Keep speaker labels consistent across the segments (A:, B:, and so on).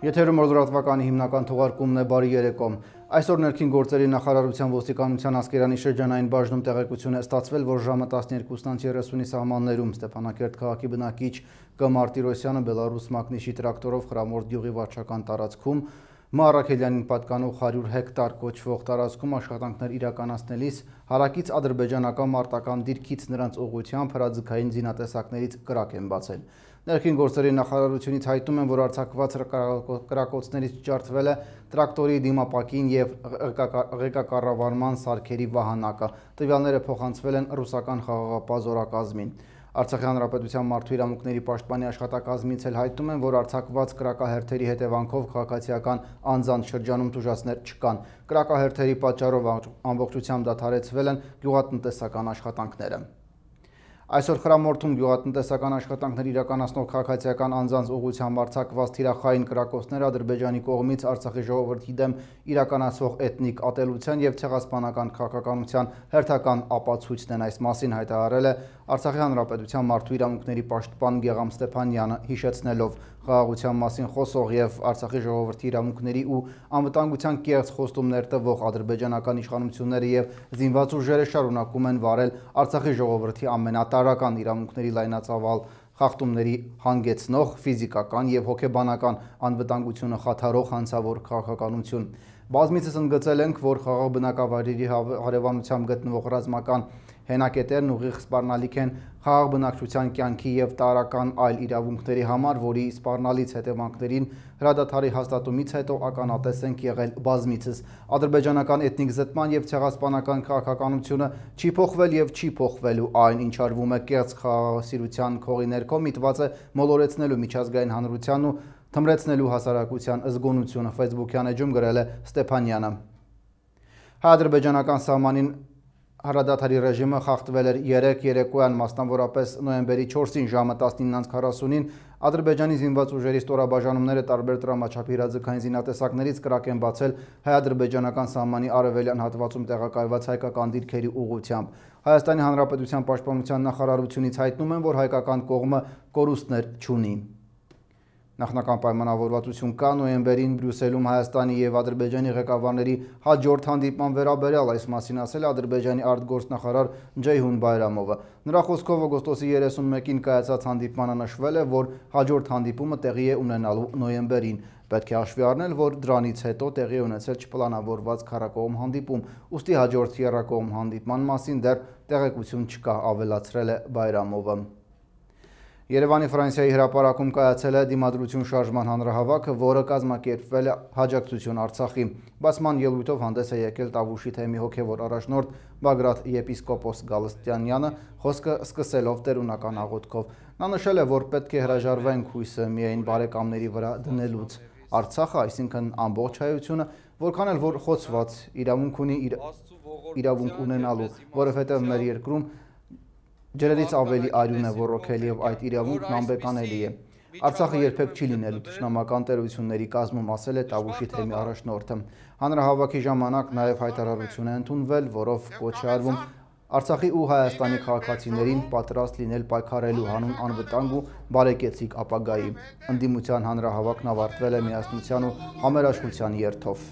A: Եթերում օրդրատվականի հիմնական թողարկումն է, բարի երեկո։ Այսօր ներքին գործերի նախարարության ոստիկանության Ասկերանի շրջանային բաժնում տեղեկություն է ստացվել, որ ժամը 12:30-ի սահմաններում Ստեփանակերտ քաղաքի բնակիչ Կ. Մարտիրոսյանը Բելարուս մակնիշի տրակտորով Խրամորդ գյուղի վարչական տարածքում Մ. Առաքելյանին պատկանող 100 հեկտար կոչվող տարածքում աշխատանքներ իրականացնելիս հարակից ադրբեջանական մարտական դիրքից նրանց ուղղությամբ հրաձգային զինատեսակներից կրակ են բացել։ Ներքին գործերի նախարարությունից հայտնում են, որ արձակված կրակոցներից ջարդվել է տրակտորի դիմապակին և ղեկակառավարման սարքերի վահանակը։ Տվյալները փոխանցվել են ռուսական խաղաղապահ զորակազմին։ Արցախի հանրապետության մարդու իրավունքների պաշտպանի աշխատակազմից էլ հայտնում են, որ արձակված կրակահերթերի հետևանքով քաղաքացիական անձանց շրջանում տուժածներ չկան։ Կրակահերթերի պատճառով ամբողջությամբ դադարեցվել են գյուղատնտեսական աշխատանքները։ Այսօր Խրամորդում գյուղատնտեսական աշխատանքներ իրականացնող քաղաքացիական անձանց ուղղությամբ արձակված թիրախային կրակոցները Ադրբեջանի կողմից Արցախի ժողովրդի դեմ իրականացվող էթնիկ ատելության և ցեղասպանական քաղաքականության հերթական ապացույցն են։ Այս մասին հայտարարել է Արցախի հանրապետության մարդու իրավունքների պաշտպան Գեղամ Ստեփանյանը, հիշեցնելով խաղաղության մասին խոսող և Արցախի ժողովրդի իրավունքների ու անվտանգության կեղծ խոստումներ տվող ադրբեջանական իշխանությունները և զինված ուժերը շարունակում են վարել Արցախի ժողովրդի ամենատարրական իրավունքների լայնածավալ խախտումների հանգեցնող ֆիզիկական և հոգեբանական անվտանգությունը խաթարող հանցավոր քաղաքականություն։ Բազմիցս ընդգծել ենք, որ խաղաղ բնակավայրերի հարևանությամբ գտնվող ռազմական հենակետերն ուղիղ սպառնալիք են խաղաղ բնակչության կյանքի և տարրական այլ իրավունքների համար, որի սպառնալից հետևանքներին հրադադարի հաստատումից հետո ականատես ենք եղել բազմիցս։ Ադրբեջանական էթնիկ զտման և ցեղասպանական քաղաքականությունը չի փոխվել և չի փոխվելու, այն ինչ արվում է կեղծ խաղաղասիրության քողի ներքո միտված է մոլորեցնելու միջազգային հանրությանն ու թմրեցնելու հասարակության զգոնությունը, Facebook-յան էջում գրել է Ստեփանյանը։ Հայ-ադրբեջանական սահմանին հրադադարի ռեժիմը խախտվել էր երեկոյան, մասնավորապես նոյեմբերի 4-ին ժամը 19:40-ին Ադրբեջանի զինված ուժերի ստորաբաժանումները տարբեր տրամաչափի հրաձգային զինատեսակներից կրակ են բացել հայ-ադրբեջանական սահմանի արևելյան հատվածում տեղակայված հայկական դիրքերի ուղղությամբ։ Հայաստանի Հանրապետության պաշտպանության նախարարությունից հայտնում են, որ հայկական կողմը կորուստներ չունի։ Նախնական պայմանավորվածություն կա նոյեմբերին Բրյուսելում Հայաստանի և Ադրբեջանի ղեկավարների հաջորդ հանդիպման վերաբերյալ, այս մասին ասել է Ադրբեջանի արտգործնախարար Ջեյհուն Բայրամովը։ Նրա խոսքով օգոստոսի 31-ին կայացած հանդիպմանը նշվել է, որ հաջորդ հանդիպումը տեղի է ունենալու նոյեմբերին։ Պետք է հաշվի առնել, որ դրանից հետո տեղի է ունեցել չպլանավորված քառակողմ հանդիպում, ուստի հաջորդ եռակողմ հանդիպման մասին դեռ տեղեկություն չկա, ավելացրել է Բայրամովը։ Երևանի Ֆրանսիայի հրապարակում կայացել է դիմադրություն շարժման հանրահավաքը, որը կազմակերպվել է հաջակցություն Արցախի։ Բացման ելույթով հանդես է եկել Տավուշի թեմի հոգևոր առաջնորդ Բագրատ եպիսկոպոս Գալստյանյանը, խոսքը սկսելով տերունական աղոթքով։ Նա նշել է, որ պետք է հրաժարվենք հույսը միայն բարեկամների վրա դնելուց։ Արցախը, այսինքն ամբողջ հայությունը, որքան էլ որ խոցված իրավունք ունի իրավունք ունենալու, որովհետև մեր երկրում ջրերից ավելի արյուն է ոռոգել և այդ իրավունքն անբեկանելի է։ Արցախը երբեք չի լինելու թշնամական տերությունների կազմում, ասել է Տավուշի թեմի առաջնորդը։ Հանրահավաքի ժամանակ նաև հայտարարություն է ընդունվել, որով կոչ է արվում Արցախի ու Հայաստանի քաղաքացիներին պատրաստ լինել պայքարելու հանուն անվտանգ ու բարեկեցիկ ապագայի։ Ընդդիմության հանրահավաքն ավարտվել է միասնության ու համերաշխության երթով։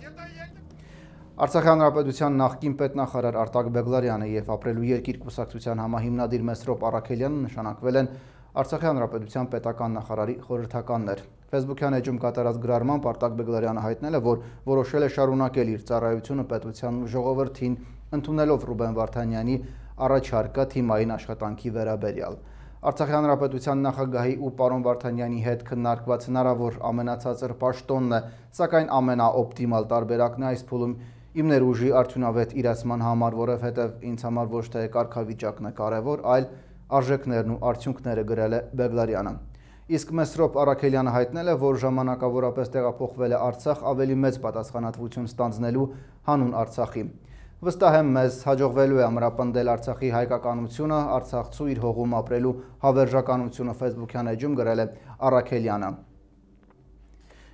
A: Արցախի հանրապետության նախկին պետնախարար Արտակ Բեգլարյանը և Ապրելու երկիր կուսակցության համահիմնադիր Մեսրոպ Առաքելյանը նշանակվել են Արցախի հանրապետության պետական նախարարի խորհրդականներ։ Facebook-յան էջում կատարած գրառմամբ Արտակ Բեգլարյանը հայտնել է, որ որոշել է շարունակել իր ծառայությունը պետության ու ժողովրդին, ընդունելով Ռուբեն Վարդանյանի առաջարկը թիմային աշխատանքի վերաբերյալ։ Արցախի հանրապետության նախագահի ու պարոն Վարդանյանի հետ քննարկված հնարավոր ամենացածր պաշտոնն է, սակայն ամենաօպտիմալ տարբերակն է այս փուլում իմ ներուժի արդյունավետ իրացման համար, որովհետև ինձ համար ոչ թե կարգավիճակն է կարևոր, այլ արժեքներն ու արդյունքները, գրել է Բեգլարյանը։ Իսկ Մեսրոպ Առաքելյանը հայտնել է, որ ժամանակավորապես տեղափոխվել է Արցախ ավելի մեծ պատասխանատվություն ստանձնելու հանուն Արցախի։ Վստահ եմ, մեզ հաջողվելու է ամրապնդել Արցախի հայկականությունը, արցախցու իր հողում ապրելու հավերժականությունը, Facebook-յան էջում գրել է Առաքելյանը։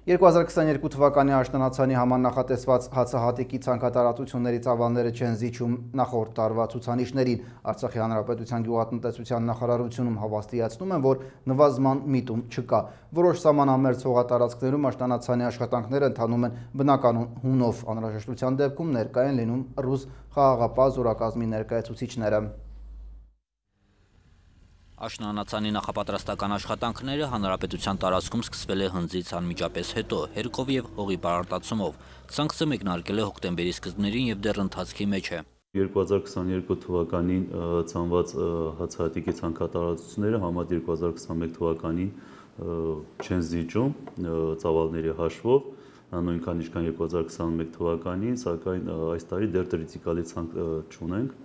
A: 2022 թվականի աշնանացանի համար նախատեսված հացահատիկի ցանկատարածությունների ծավալները չեն զիջում նախորդ տարվա ցուցանիշներին։ Արցախի հանրապետության գյուղատնտեսության նախարարությունում հավաստիացնում են, որ նվազման միտում չկա։ Որոշ սահմանամերձ հողատարածքներում աշնանացանի աշխատանքները ընթանում են բնականon հունով։ Անհրաժեշտության դեպքում ներկայ են լինում ռուս խաղաղապահ զորակազմի ներկայացուցիչները։
B: Աշնանացանի նախապատրաստական աշխատանքները հանրապետության տարածքում սկսվել է հնձից անմիջապես հետո, հերկով եւ հողի բարարտացումով։ Ցանքսը մեկնարկել է հոկտեմբերի սկզբներին եւ դեռ ընթացքի մեջ է։
C: 2022 թվականին ցանված հացահատիկի ցանկատարածությունները համադ 2021 թվականին չեն զիջում ծավալների հաշվով, նույնքան ինչքան 2021 թվականին, սակայն այս տարի դեռ տրիցիկալի ցանկ չունենք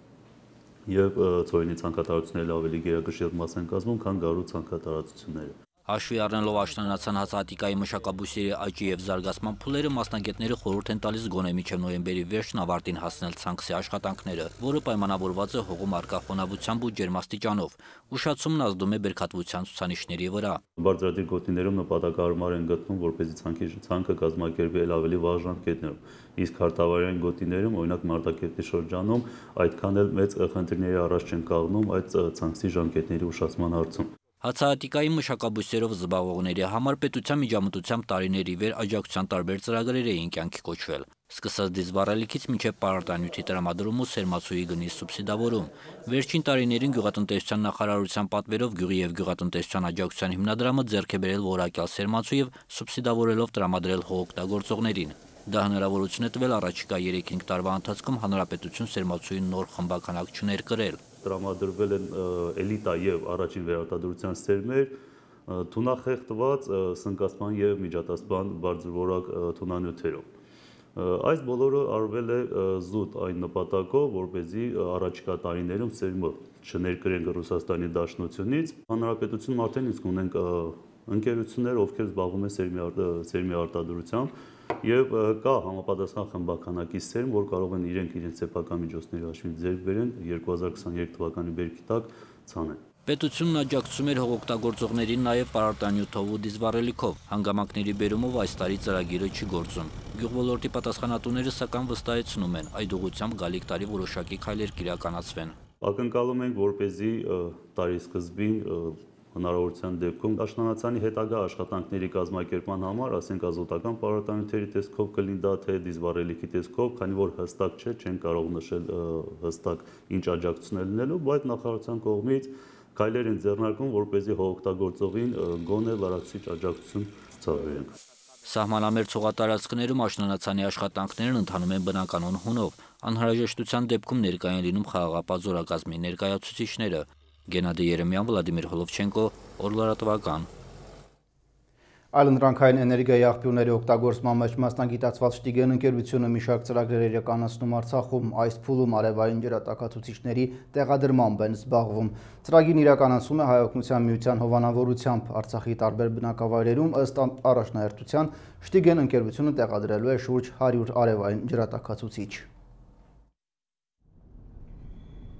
C: եւ ծորենի ցանկատարությունները ավելի գերակշիռ մաս են կազմում, քան գարու ցանկատարածությունները։
B: Հաշվի առնելով աշնանացան հացահատիկայի մշակաբույսերի աճի եւ զարգացման փուլերը, մասնագետները խորհուրդ են տալիս գոնե մինչև նոյեմբերի վերջն ավարտին հասնել ցանքսի աշխատանքները, որը պայմանավորված է հողում առկա խոնավությամբ ու ջերմաստիճանով։ Ուշացումն ազդում է բերքատվության ցուցանիշների վրա։
C: Բարձրադիր գոտիներում նպատակահարմար են գտնում, որպեսզի ցանկը կազմակերպի ավելի վաղ ժամկետներում։ Իսկ հարթավայրային գոտիներում, օրինակ Մարտակերտի շրջանում, այդքան էլ մեծ խնդիրների առաջ չեն կանգնում այդ ցանքսի ժամկետների ուշացման հարցում։
B: Հացահատիկայի մշակաբույսերով զբաղվողների համար պետության միջամտությամբ տարիների վեր աջակցության տարբեր ծրագրեր էին կյանքի կոչվել։ Սկսած դիզվառելիքից մինչև պարարտանյութի տրամադրում ու սերմացուի գնի սուբսիդավորում։ Վերջին տարիներին գյուղատնտեսության նախարարության պատվերով գյուղի եւ գյուղատնտեսության աջակցության հիմնադրամը ձեռք է բերել որակյալ սերմացու եւ սուբսիդավորելով տրամադրել հողօգտագործողներին։ Դա հնարավորություն է տվել առաջիկա 3-5 տարվա ընթացքում հանրապետություն սերմացուի նոր խմբականակ չներկրել։
C: Տրամադրվել են էլիտա եւ առաջին վերարտադրության սերմեր, թունախեղտված, սնկացման եւ միջատասպան բարձրորակ թունանյութերով։ Այս բոլորը արվել է զուտ այն նպատակով, որպեսզի առաջիկա տարիներում սերմը չներկրենք Ռուսաստանի Դաշնությունից։ Հանրապետությունում արդեն իսկ ունենք ընկերություններ, ովքեր զբաղվում են սերմի արտադրությամբ եւ կա համապատասխան խմբականակի սերմ, որ կարող են իրենց սեփական միջոցների հաշվին ձեռք բերեն 2023 թվականի բերքի տակ ցանեն։
B: Պետությունն աջակցում էր հողօգտագործողներին նաև պարարտանյութով ու դիզվառելիքով։ Հանգամանքների բերումով այս տարի ծրագիրը չի գործում։ Գյուղոլորտի պատասխանատուները սակայն վստահեցնում են, այդ ուղղությամբ գալիք տարի որոշակի քայլեր կիրականացվեն։
C: Ակնկալում ենք, որպեսզի տարի սկզբին հնարավորության դեպքում աշնանացանի հետագա աշխատանքների կազմակերպման համար, ասենք ազոտական պարարտանյութերի տեսքով կլինի դա թե դիզվառելիքի տեսքով, քանի որ հստակ չէ, չեն կարող նշել հստակ ինչ աջակցություն է լինելու, բայց նախարարության կողմից քայլեր են ձեռնարկվում, որպեսզի հողօգտագործողին գոնե լրացուցիչ աջակցություն ցուցաբերենք։
B: Սահմանամերձ հողատարածքներում աշնանացանի աշխատանքներն ընթանում են բնականon հունով։ Անհրաժեշտության դեպքում ներկայ են լինում խաղաղապահ զորակազմի ներկայացուցիչները։ Գենադի Երեմյան, Վլադիմիր Հոլովչենկո, Օրլարատվական։
A: Այլընտրանքային էներգիայի աղբյուրների օգտագործման մեջ մասնագիտացված Շտիգեն ընկերությունը մի շարք ծրագրեր իրականացնում Արցախում, այս փուլում արևային ջրատաքացուցիչների տեղադրմամբ են զբաղվում։ Ծրագիրն իրականացում է Հայօգնության միության հովանավորությամբ Արցախի տարբեր բնակավայրերում ըստ առաջնահերթության Շտիգեն ընկերությունը տեղադրելու է շուրջ 100 արևային ջրատաքացուցիչ։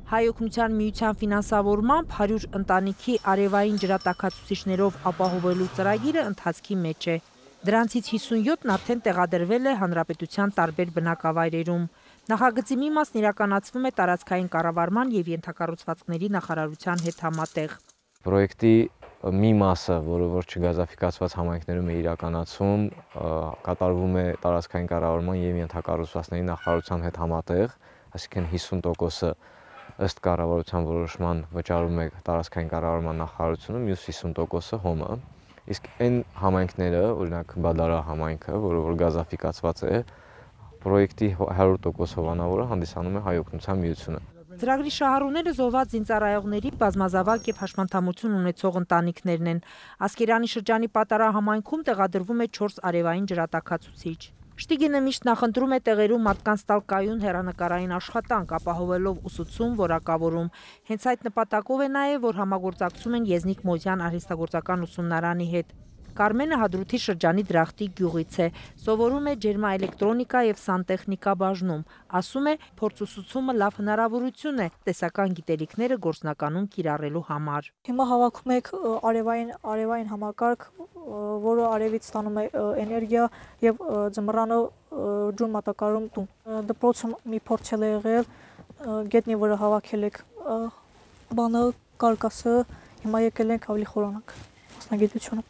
D: Հայօգնության միության ֆինանսավորմամբ 100 ընտանիքի արևային ջրատաքացուցիչներով ապահովելու ծրագիրը ընթացքի մեջ է։ Դրանցից 57-ն արդեն տեղադրվել է հանրապետության տարբեր բնակավայրերում։ Նախագծի մի մասն իրականացվում է տարածքային կառավարման եւ ենթակառուցվածքների նախարարության հետ համատեղ։
E: Պրոյեկտի մի մասը, որը որ չգազաֆիկացված համայնքներում է իրականացվում, կատարվում է տարածքային կառավարման եւ ենթակառուցվածքների նախարարության հետ համատեղ, այսինքն 50%-ը ըստ կառավարության որոշման վճարում է տարածքային կառավարման նախարարությունը, մյուս 50%-ը ՀՕՄ-ը։ Իսկ այն համայնքները, օրինակ Բադարա համայնքը, որը որ գազաֆիկացված է, պրոյեկտի 100% հովանավորը հանդիսանում է Հայօգնության միությունը։
D: Ծրագրի շահառուները զոհված զինծառայողների բազմազավակ եւ հաշմանդամություն ունեցող ընտանիքներն են։ Ասկերանի շրջանի Պատարա համայնքում տեղադրվում է 4 արևային ջրատաքացուցիչ։ Շտիգենը միշտ նախընտրում է տեղերում մարդկանց տալ կայուն հեռանկարային աշխատանք, ապահովելով ուսուցում, որակավորում։ Հենց այդ նպատակով է նաև, որ համագործակցում են Եզնիկ Մոզյան արհեստագործական ուսումնարանի հետ։ Կարմենը Հադրութի շրջանի Դրախտի գյուղից է, սովորում է ջերմաէլեկտրոնիկա եւ սանտեխնիկա բաժնում, ասում է փորձուսուցումը լավ հնարավորություն է տեսական գիտելիքները գործնականում կիրառելու համար։
F: Հիմա հավաքում եք արևային համակարգ, որը արևից ստանում է էներգիա եւ ձմռանը ջուր մատակարարում տուն։ Դպրոցում մի փորձ է եղել, գետնի վրա հավաքել եք բանը, կարկասը, հիմա եկել ենք ավելի խորանաք մասնագիտությունը։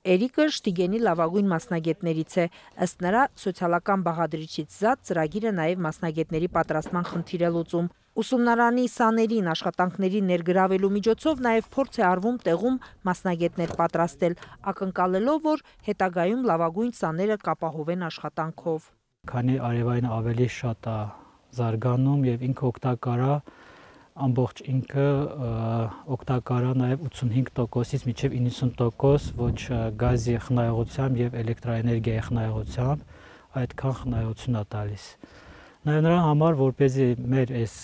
D: Էրիկը Շտիգենի լավագույն մասնագետներից է, ըստ նրա սոցիալական բաղադրիչից զատ ծրագիրը նաև մասնագետների պատրաստման խնդիր է լուծում։ Ուսումնարանի սաներին աշխատանքների ներգրավելու միջոցով նաև փորձ է արվում տեղում մասնագետներ պատրաստել, ակնկալելով, որ հետագայում լավագույն սաները կապահովեն աշխատանքով։
G: Քանի արևային ավելի շատ է զարգանում եւ ինքը օգտակար է, ամբողջ ինքը օգտակար է նաև 85%-ից մինչև 90% ոչ գազի խնայողությամբ եւ էլեկտրաէներգիայի խնայողությամբ այդքան խնայողություն է տալիս։ Նաև նրա համար, որպեսզի մեր այս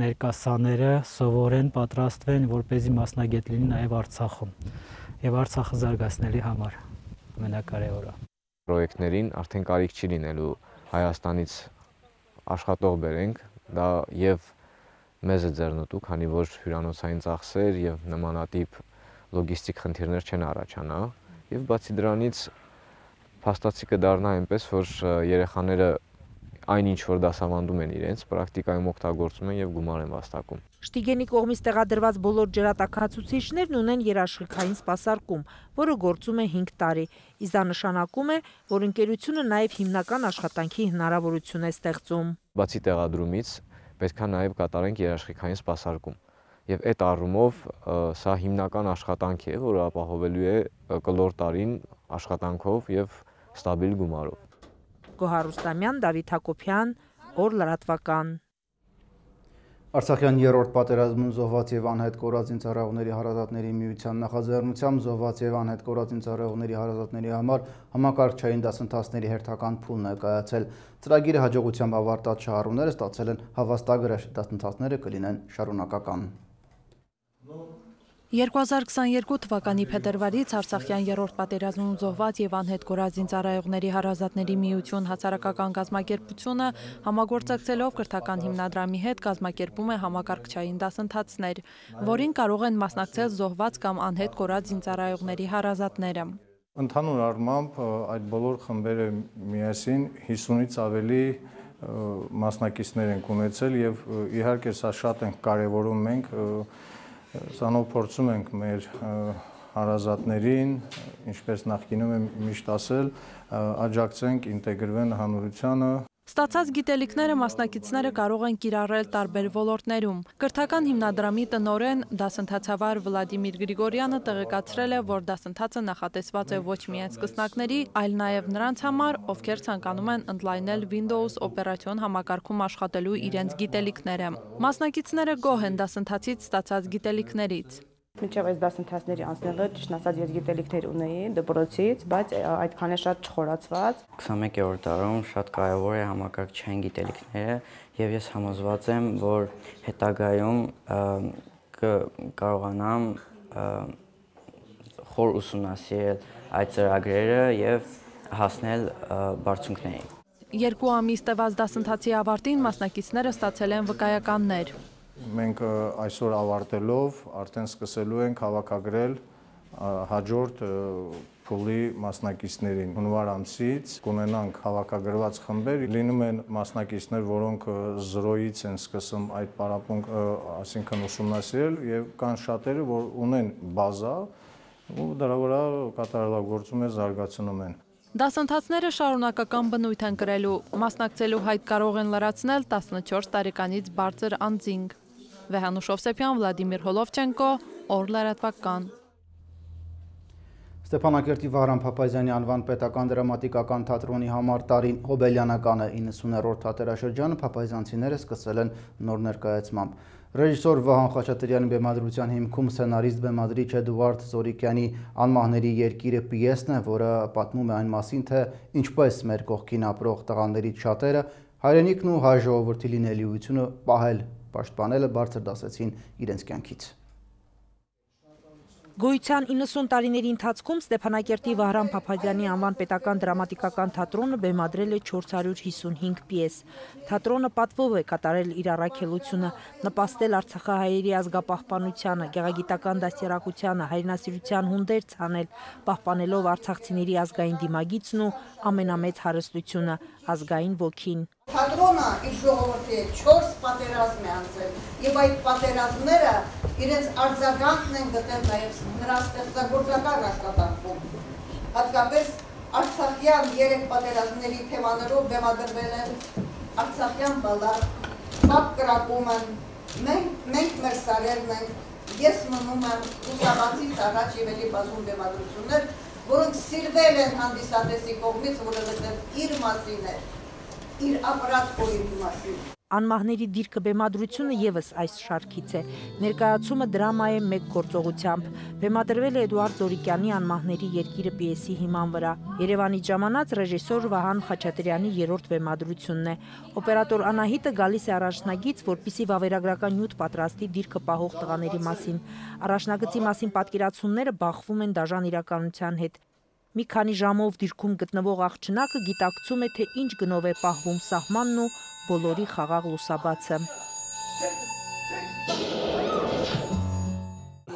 G: ներկա սաները սովորեն, պատրաստվեն, որպեսզի մասնագետ լինի նաև Արցախում եւ Արցախը զարգացնելու համար ամենակարևորը։
E: Պրոյեկտներին արդեն կարիք չի լինելու Հայաստանից աշխատող բերենք, դա եւ մեզ է ձեռնտու, քանի որ հյուրանոցային ծախսեր եւ նմանատիպ լոգիստիկ խնդիրներ չեն առաջանա եւ բացի դրանից փաստացի կդառնա այնպես, որ երեխաները այնինչ որ դասավանդում են իրենց, պրակտիկայում օգտագործում են եւ գումար են վաստակում։
D: Շտիգենի կողմից տեղադրված բոլոր ջրատաքացուցիչներն ունեն երաշխիքային սպասարկում, որը գործում է 5 տարի։ Իսկ դա նշանակում է, որ ընկերությունը նաեւ հիմնական աշխատանքի հնարավորություն է ստեղծում։
E: Բացի տեղադրումից պետք է նաև կատարենք երաշխիքային սպասարկում։ Եվ այդ առումով սա հիմնական աշխատանք է, որը ապահովելու է կլոր տարին աշխատանքով եւ ստաբիլ գումարով։
D: Գոհար Ռուստամյան, Դավիթ Հակոբյան, Օր լրատվական։
A: Արցախյան երրորդ պատերազմում զոհված եւ անհետ կորած զինծառայողների հարազատների միության նախաձեռնությամբ զոհված եւ անհետ կորած զինծառայողների հարազատների համար համակարգչային դասընթացների հերթական փուլն է կայացել։ Ծրագիրը հաջողությամբ ավարտած շահառուները ստացել են հավաստագրեր, դասընթացները կլինեն շարունակական։
H: 2022 թվականի փետրվարից Արցախյան երրորդ պատերազմում զոհված եւ անհետ կորած զինծառայողների հարազատների միություն հասարակական կազմակերպությունը համագործակցելով կրթական հիմնադրամի հետ կազմակերպում է համակարգչային դասընթացներ, որին կարող են մասնակցել զոհված կամ անհետ կորած զինծառայողների հարազատները։
I: Ընդհանուր առմամբ այդ բոլոր խմբերը միասին 50-ից ավելի մասնակիցներ են ունեցել եւ իհարկե սա շատ ենք կարեւորում մենք Սանով փորձում ենք մեր հարազատներին, ինչպես նախկինում եմ միշտ ասել, աջակցենք ինտեգրվեն հանրությանը։
H: Ստացած գիտելիքները մասնակիցները կարող են կիրառել տարբեր ոլորտներում։ Կրթական հիմնադրամի տնօրեն դասընթացավար Վլադիմիր Գրիգորյանը տեղեկացրել է, որ դասընթացը նախատեսված է ոչ միայն սկսնակների, այլ նաև նրանց համար, ովքեր ցանկանում են ընդլայնել Windows օպերացիոն համակարգում աշխատելու իրենց գիտելիքները։ Մասնակիցները գոհ են դասընթացից ստացած գիտելիքներից։
J: Մինչև այս դասընթացների անցնելը ճիշտ ասած ես գիտելիքներ ունեի դպրոցից, բայց այդքան է շատ չխորացված։
K: 21-րդ դարում շատ կարևոր է համակարգչային գիտելիքները եւ ես համոզված եմ, որ հետագայում կարողանամ խոր ուսումնասիրել այդ ծրագրերը եւ հասնել բարձունքների։
H: 2 ամիս տևած դասընթացի ավարտին մասնակիցները ստացել են վկայականներ։
I: Մենք այսօր ավարտելով արդեն սկսելու ենք հավաքագրել հաջորդ փուլի մասնակիցներին։ Հունվար ամսից կունենանք հավաքագրված խմբեր, լինում են մասնակիցներ, որոնք 0-ից են սկսում այդ պարապմունք, այսինքն ուսումնասիրել եւ կան շատերը, որ ունեն բազա ու դրա վրա կատարելագործում է զարգացնում են։
H: Դասընթացները շարունակական բնույթ են կրելու, մասնակցելու հայտ կարող են լրացնել 14 տարեկանից բարձր անձինք։ Վեհանուշ Օվսեփյան, Վլադիմիր Հոլովչենկո, Օր լրատվական։
A: Ստեփանակերտի Վահրամ Փափազյանի անվան պետական դրամատիկական թատրոնի համար տարին Հոբելյանականը 90-րդ թատերաշրջանը փափազյանցիները սկսել են նոր ներկայացմամբ։ Ռեժիսոր Վահան Խաչատրյանի բեմադրության հիմքում սցենարիստ բեմադրիչ Էդուարդ Զորիկյանի «Անմահների երկիրը» պիեսն է, որը պատմում է այն մասին, թե ինչպես մեր կողքին ապրող տղաներից շատերը հայրենիքն ու հայ ժողովրդի լինելիությունը պահել, պաշտպանելը բարձր դասեցին իրենց կյանքից։
D: Գոյության 90 տարիների ընթացքում Ստեփանակերտի Վահրամ Փափազյանի անվան պետական դրամատիկական թատրոնը բեմադրել է 455 պիես։ Թատրոնը պատվով է կատարել իր առաքելությունը, նպաստել արցախահայերի ազգապահպանությանը, գեղագիտական դաստիարակությանը, հայրենասիրության հունդեր ցանել, պահպանելով արցախցիների ազգային դիմագիծն ու ամենամեծ հարստությունը՝ ազգային ոգին։
L: Թատրոնը իր ժողովրդի 4 պատերազմ է անցել, եւ այդ պատերազմները իրենց արձագանքն են գտել նաեւ նրա ստեղծագործական աշխատանքում։ Հատկապես արցախյան 3 պատերազմների թեմաներով բեմադրվել են արցախյան բալլադ, Պապ կրակումն, մենք մեր սարերն ենք, ես մնում եմ լուսաբանցից առաջ եւ էլի բազում բեմադրություններ, որոնք սիրվել են հանդիսատեսի կողմից, որովհետեւ իր մասին է, իր ապրած օրենքի մասին։
D: Անմահների դիրքը բեմադրությունը եւս այս շարքից է։ Ներկայացումը դրամա է մեկ գործողությամբ։ Բեմադրվել է Էդուարդ Զորիկյանի Անմահների երկիրը պիեսի հիման վրա։ Երևանից ժամանած ռեժիսոր Վահան Խաչատրյանի երրորդ բեմադրությունն է։ Օպերատոր Անահիտը գալիս է առաջնագից, որպիսի վավերագրական նյութ պատրաստի դիրքը պահող տղաների մասին։ Առաջնագծի մասին պատկերացումները բախվում են դաժան իրականության հետ։ Մի քանի ժամով դիրքում գտնվող աղջնակը գիտակցում է, թե ինչ գնով է պահվում սահմանն ու բոլորի խաղաղ լուսաբացը։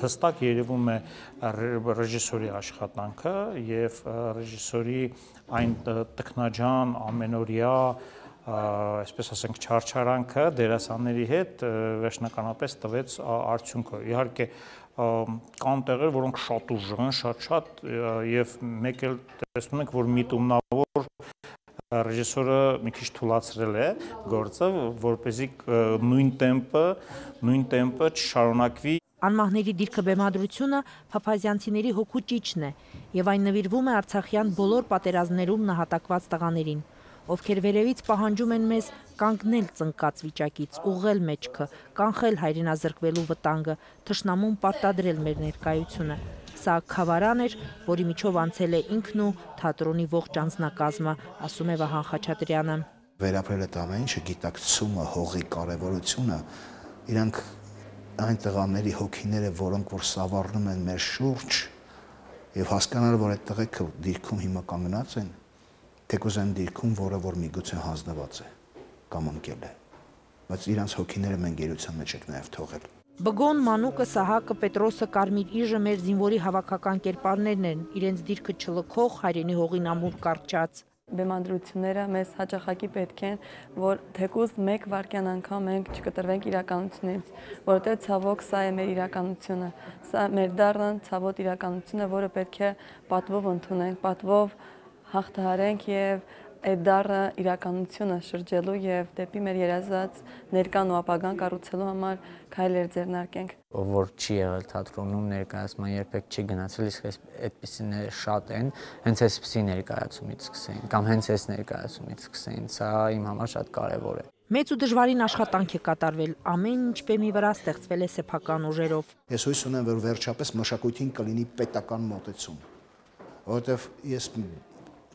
M: Հստակ երևում է ռեժիսորի աշխատանքը եւ ռեժիսորի այն տքնաջան ամենօրյա, այսպես ասենք, չարչարանքը դերասանների հետ վերջնականապես տվեց արդյունքը։ Իհարկե կան տեղեր, որոնք շատ ուժեղ, շատ եւ մեկ էլ տեսնում ենք, որ միտումնավոր ռեժիսորը մի քիչ թուլացրել է գործը, որպեսզի նույն տեմպը չշարունակվի։
D: Անմահների դիրքը բեմադրությունը փափազյանցիների հոգու ճիճն է եւ այն նվիրվում է արցախյան բոլոր պատերազմներում նահատակված տղաներին, ովքեր վերևից պահանջում են մեզ կանգնել ծնկած վիճակից, ուղղել մեջքը, կանխել հայրենազրկվելու վտանգը, թշնամուն պարտադրել մեր ներկայությունը։ Սա քավարան էր, որի միջով անցել է ինքն ու թատրոնի ողջ անձնակազմը, ասում է Վահան Խաչատրյանը։
N: Վերապրել այդ ամեն ինչը, գիտակցումը, հողի կարևորությունը, իրանք այն տղաների հոգիները, որոնք որ սավառնում են մեր շուրջ, եւ հասկանալ, որ այդ տղեկը դիրքում հիմա կանգնած են, թեկուզ այն դիրքում, որը որ միգուցե հանձնված է կամ ընկել է, բայց իրանց հոգիները մենք գերության մեջ ենք նաեւ թողել։
D: Բգոն, Մանուկը, Սահակը, Պետրոսը, Կարմիր Իժը մեր զինվորի հավաքական կերպարներն են, իրենց դիրքը չլքող, հայրենի հողին ամուր կարճած։
O: Բեմադրությունները մեզ հաճախակի պետք են, որ թեկուզ մեկ վայրկյան անգամ մենք չկտրվենք իրականությունից, որովհետև ցավոք սա է մեր իրականությունը, սա մեր դառն ցավոտ իրականությունը, որը պետք է պատվով ընդունենք, պատվով հաղթահարենք եւ այդ դառը իրականությունը շրջելու եւ դեպի մեր երազած ներկան ու ապագան կառուցելու համար քայլեր ձեռնարկենք։
P: Ով որ չի եղել թատրոնում ներկայացման երբեք չի գնացել, իսկ այդպիսիները շատ են, հենց այսպիսի ներկայացումից սկսեն կամ հենց այս ներկայացումից սկսեն, սա իմ համար շատ կարեւոր է։
D: Մեծ ու դժվարին աշխատանք է կատարվել, ամեն ինչ բեմի վրա ստեղծվել է սեփական ուժերով։
N: Ես հույս ունեմ, որ վերջապես մշակույթին կլինի պետական մոտեցում, որովհետեւ ես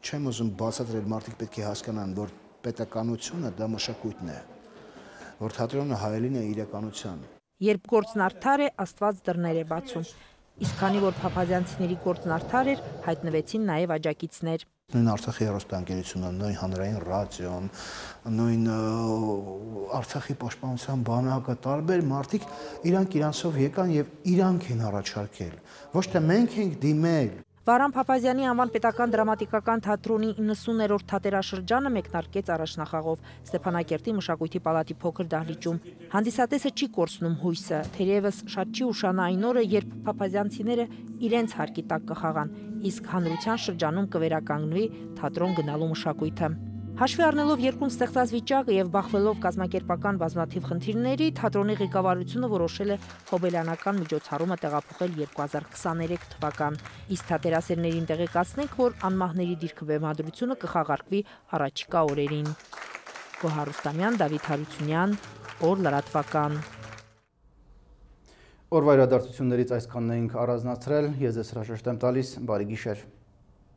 N: չեմ ուզում բացատրել, մարդիկ պետք է հասկանան, որ պետականությունը դա մշակույթն է, որ թատրոնը հայելին է իրականության։
D: Երբ գործն արդար է, Աստված դռներ է բացում։ Իսկ քանի որ փափազյանցիների գործն արդար էր, հայտնվեցին նաև աջակիցներ։
N: Նույն Արցախի հեռուստաընկերությունը, նույն հանրային ռադիոն, նույն Արցախի պաշտպանության բանակը, տարբեր մարդիկ իրանք իրանցով եկան եւ իրանք են առաջարկել։ Ոչ թե մենք ենք դիմել։
D: Վահրամ Փափազյանի անվան պետական դրամատիկական թատրոնի 90-րդ թատերաշրջանը մեկնարկեց առաջնախաղով Ստեփանակերտի մշակույթի պալատի փոքր դահլիճում։ Հանդիսատեսը չի կորցնում հույսը, թերևս շատ չի ուշանա այն օրը, երբ փափազյանցիները իրենց հարկի տակ կխաղան, իսկ հանրության շրջանում կվերականգնվի թատրոն գնալու մշակույթը։ Հաշվի առնելով երկրում ստեղծած վիճակը եւ բախվելով կազմակերպական բազմաթիվ խնդիրների, թատրոնի ղեկավարությունը որոշել է հոբելյանական միջոցառումը տեղափոխել 2023 թվական։ Իսկ թատերասերներին տեղեկացնենք, որ անմահների դիրքը բեմադրությունը կխաղարկվի առաջիկա օրերին։ Գոհար Ռուստամյան, Դավիթ Հարությունյան, Օր լրատվական։
A: Օրվա իրադարձություններից այսքանն էինք առանձնացրել, ես ձեզ հրաժեշտ եմ տալիս, բարի գիշեր։